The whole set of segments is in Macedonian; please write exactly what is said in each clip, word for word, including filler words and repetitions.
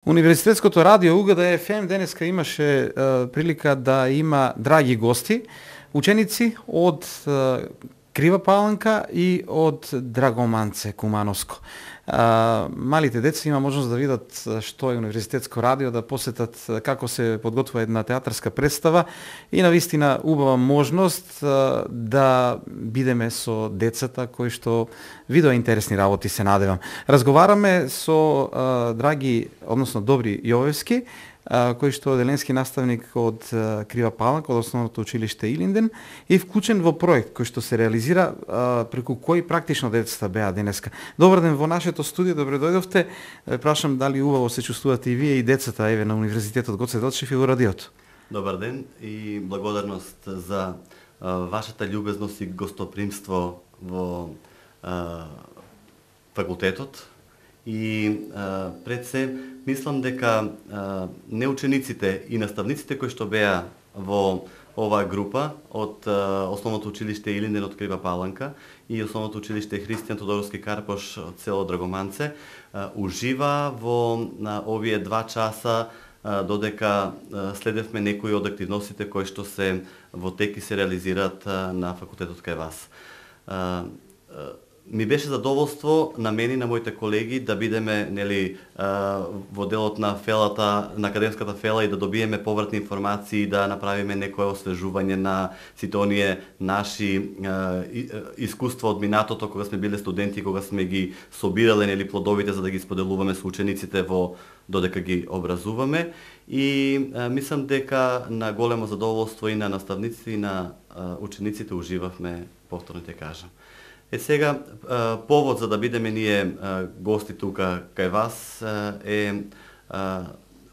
Универзитетското радио У Г Д Ф М денеска имаше е, прилика да има драги гости, ученици од е, Крива Паланка и од Драгоманце, Кумановско. А, малите деца има можност да видат што е универзитетско радио, да посетат како се подготвува една театарска представа и навистина убава можност а, да бидеме со децата кои што видоа интересни работи, се надевам. Разговараме со а, драги, односно Добри Јовевски, кој што е деленски наставник од Крива Паланка, од основното училиште Илинден, и вклучен во проект кој што се реализира а, преку кој практично децата беа денеска. Добар ден во нашето студио, добре дојдовте. Прашам дали убаво се чувствувате и вие и децата еве на универзитетот Гоце Делчев и во радиото. Добар ден и благодарност за а, вашата љубезност и гостопримство во а, факултетот. И а, пред се, мислам дека а, не учениците и наставниците кои што беа во оваа група од а, Основното училиште Илинден од Крива Паланка и Основното училиште Христијан Тодоровски Карпош од село Драгоманце а, ужива во на овие два часа а, додека а, следевме некои од активностите кои што се во тек и се реализираат а, на факултетот кај вас. А, а, Ми беше задоволство на мене и на моите колеги да бидеме нели во делот на фелата, на академската фела и да добиеме повратни информации, да направиме некое освежување на сите оние наши искуства од минатото кога сме биле студенти, кога сме ги собирале нели плодовите за да ги споделуваме со учениците во додека ги образуваме. И а, мислам дека на големо задоволство и на наставниците и на а, учениците уживавме, повторно те кажам. Е сега, повод за да бидеме ние гости тука кај вас е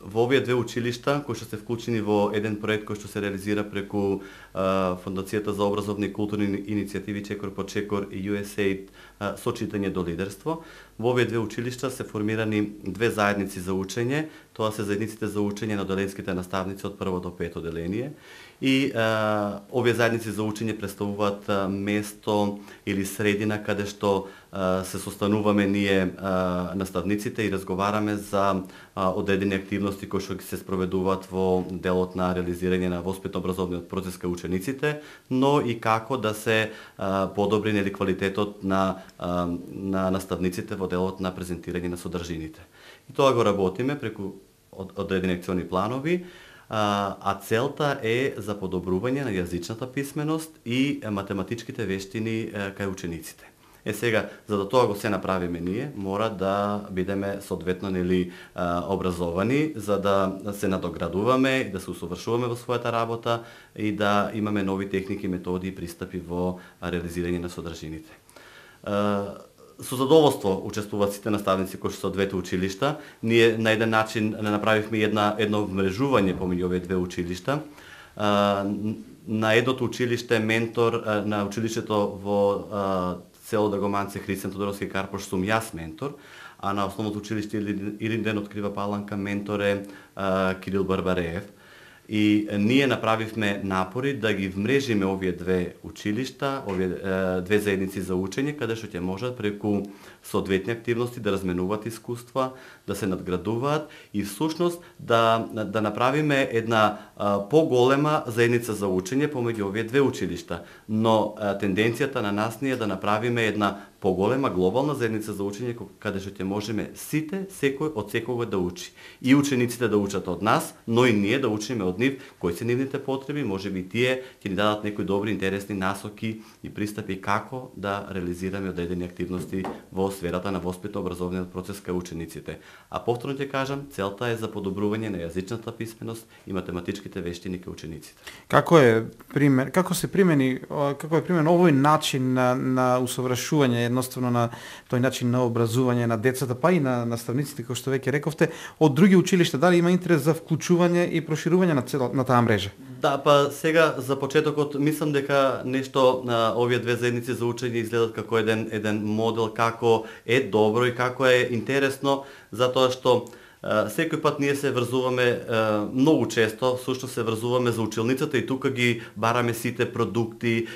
во овие две училишта кои што се вклучени во еден проект кој што се реализира преку Фондацијата за образовни и културни иницијативи Чекор по Чекор и Ю Ес Ей Ид со читање до лидерство. Во овие две училишта се формирани две заедници за учење, тоа се заедниците за учење на оделенските наставници од прво до пето оделение. И а, овие заедници за учење представуваат а, место или средина каде што а, се состануваме ние а, наставниците и разговараме за а, одредени активности кои што се спроведуваат во делот на реализирање на воспитно-образовниот процес кај учениците, но и како да се а, подобри нели квалитетот на а, на наставниците во делот на презентирање на содржините. И тоа го работиме преку одредени акциони планови. А целта е за подобрување на јазичната писменост и математичките вештини кај учениците. Е сега, за да тоа го се направиме ние, мора да бидеме соодветно нели образовани, за да се надоградуваме и да се усовршуваме во својата работа и да имаме нови техники, методи и пристапи во реализирање на содржините. Со задоволство учествуваат сите наставници кои што се од двете училишта. Ние на еден начин направивме една едно вмрежување помеѓу овие две училишта. На едното училиште ментор на училиштето во село Драгоманце Христијан Тодоровски Карпош сум јас ментор, а на Основното училиште Илинден од Крива Паланка ментор е Кирил Барбареев. И ние направивме напори да ги вмрежиме овие две училишта, овие е, две заедници за учење, каде што ќе можат преку соодветни активности да разменуваат искуства, да се надградуваат и всушност да да направиме една а, поголема заедница за учење помеѓу овие две училишта. Но а, тенденцијата на нас ни е да направиме една поголема глобална заедница за учење каде што ќе можеме сите, секој од секого да учи. И учениците да учат од нас, но и ние да учиме од нив кои се нивните потреби, можеби тие ќе ни дадат некои добри интересни насоки и пристапи како да реализираме одредени активности во сферата на воспитно-образовниот процес кај учениците. А повторно ќе кажам, целта е за подобрување на јазичната писменост и математичките вештини кај учениците. Како е пример, како се примени, како е примен овој начин на на усовршување едноставно на тој начин на образување на децата, па и на наставниците, кои што веќе рековте, од други училишта, дали има интерес за вклучување и проширување на цел, на таа мрежа? Да, па сега за почетокот мислам дека нешто на овие две заедници за учење изгледат како еден еден модел како е добро и како е интересно, затоа што секој пат ние се врзуваме многу често, сушто се врзуваме за училницата и тука ги бараме сите продукти,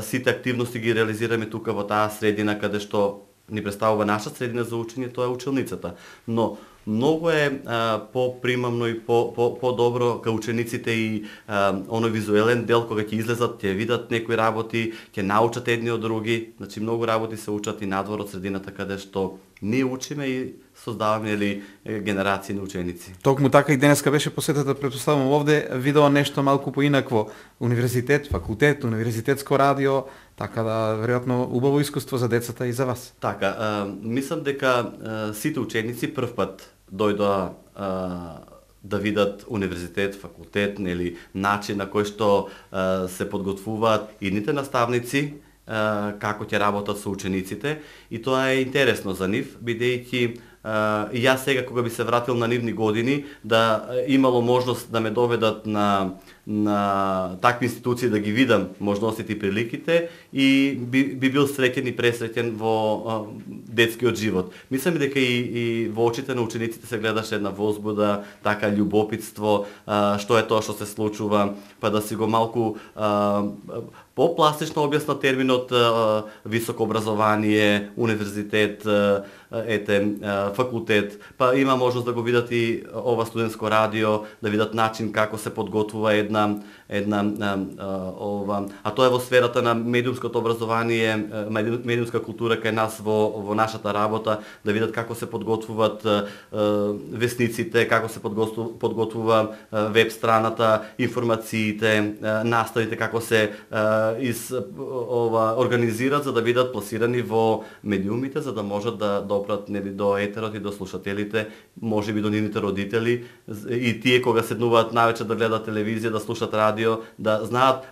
сите активности ги реализираме тука во таа средина каде што ни представува наша средина за учење, тоа е училницата. Но многу е а, попримамно и по, по, по-добро кај учениците и а, оној визуелен дел кога ќе излезат, ќе видат некои работи, ќе научат едни од други. Значи многу работи се учат и надвор од средината каде што ние учиме и создаваме или генерации на ученици. Токму така и денеска беше посетата, претпоставувам овде, видео нешто малку поинакво. Универзитет, факултет, универзитетско радио, така да веројатно убаво искуство за децата и за вас. Така, а, мислам дека а, сите ученици прв пат дојдоа а, да видат универзитет, факултет, нели начин на кој што а, се подготвуваат идните наставници, а, како ќе работат со учениците, и тоа е интересно за нив, бидејќи Uh, и јас сега кога би се вратил на нивни години, да имало можност да ме доведат на, на такви институции да ги видам можностите и приликите, и би, би бил среќен и пресреќен во uh, детскиот живот. Мислам дека и, и во очите на учениците се гледаше една возбуда, така љубопитство, uh, што е тоа што се случува, па да си го малку uh, по-пластично објасна терминот uh, високо образование, универзитет, uh, ете, факултет, па има можност да го видат и ова студентско радио, да видат начин како се подготвува една една а, а, ова, а тоа е во сферата на медиумското образование, медиумска култура кај нас во во нашата работа, да видат како се подготвуваат а, а, весниците, како се подготвува, подготвува а, веб страната, информациите, а, наставите како се а, из ова организираат за да бидат пласирани во медиумите, за да можат да допрат нели до етерот и до слушателите, можеби до нивните родители и тие кога седнуваат навечер да гледаат телевизија, да слушаат радио, да знаат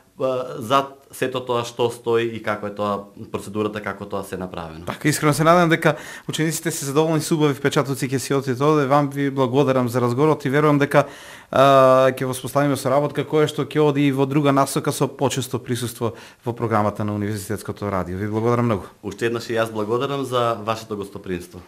зад сето тоа што стои и како е тоа процедурата, како тоа се направено. Така, искрено се надевам дека учениците се задоволни со убави впечатоци ќе си одите оде. Вам ви благодарам за разговорот и верувам дека ќе воспоставиме соработка која што ќе оди и во друга насока со почесто присуство во програмата на Универзитетското радио. Ви благодарам многу. Уште еднаш и јас благодарам за вашето гостопримство.